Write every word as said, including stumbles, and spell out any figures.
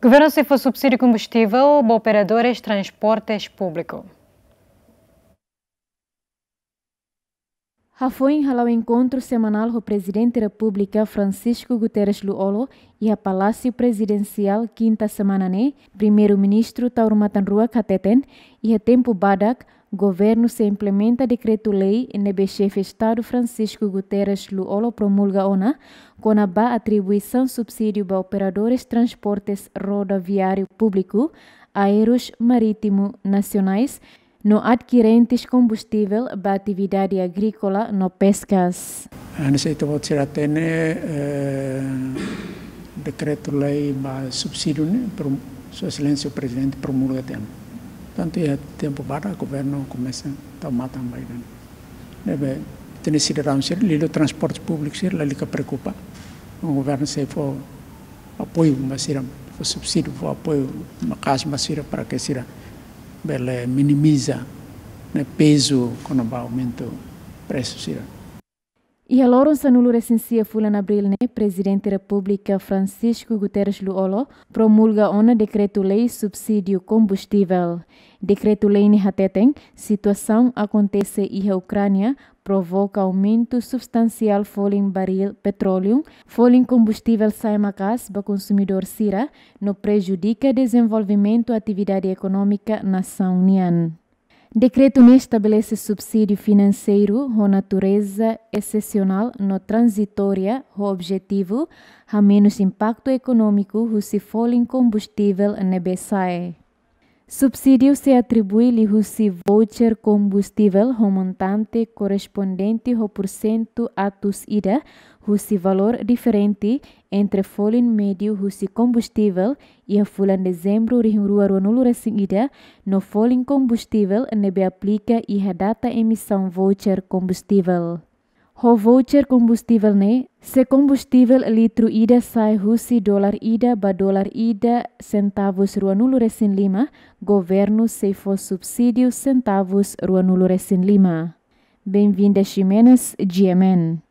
Governu sei fó subsídiu kombustivel ba operadores transportes públiku. Hafoin hala'o enkontru semanál ho Prezidente Repúblika Francisco Guterres Lú-Olo iha Palásiu Prezidensiál kinta semana ne'e, Primeiru-Ministru Taur Matan Ruak hateten, iha tempu badak, governu sei implementa dekretu-lei ne'ebé Xefe Estadu Francisco Guterres Lú-Olo promulga ona, kona-ba atribuisaun subsídiu ba operadores transportes rodoviáriu públiku, aérus, marítimu, nasionais, no adkirentes kombustivel ba atividade agríkola no peskas. Hanesan ita-boot sira hatene, eh, dekretu-lei ba subsídiu ne'e, prom-, Sua Exelénsia Prezidente promulga tiha ona. Portantu, iha tempu badak governu komesa tau matan ba ida-ne'e. Ne'ebé, hatene sidadaun sira, liuliu transporte públiku sira, lalika preokupa. Governu sei fó apoiu ba sira, fó subsídiu, fó apoiu maka'as ba sira para que sira bele minimiza, ne'e, pezu kona-ba aumentu presu sira. Iha loron sanulu-resin-sia fulan Abríl ne'e, Prezidente Repúblika Francisco Guterres Lú-Olo promulga ona dekretu-lei subsídiu kombustivel. Dekretu-lei ne'e hateten, situasaun akontese iha Ukránia provoka aumentu substansiál folin baríl petróleu, folin kombustivel sa'e maka'as ba konsumidór sira, no prejudika dezenvolvimentu atividade ekonómika nasaun nian. Dekretu ne'e estabelese subsídiu finanseiru ho natureza esesionál no tranzitória, ho objetivu hamenus impaktu ekonómiku husi folin kombustivel ne'ebé sa'e. Subsídiu sei atribui liuhusi voucher kombustivel ho montante korrespondente ho pursentu atus ida husi valór diferente entre folin médiu husi kombustivel iha fulan Dezembru rihun rua ruanulu-resin-ida no folin kombustivel ne'ebé aplika iha data emisaun voucher kombustivel. Ho voucher kombustivel ne'e, se kombustivel litru ida sa'e husi dolar ida ba dolar ida sentavus ruanulu-resin-lima, governu sei fó subsídiu sentavus ruanulu-resin-lima. Benvinda Ximenes, G M N.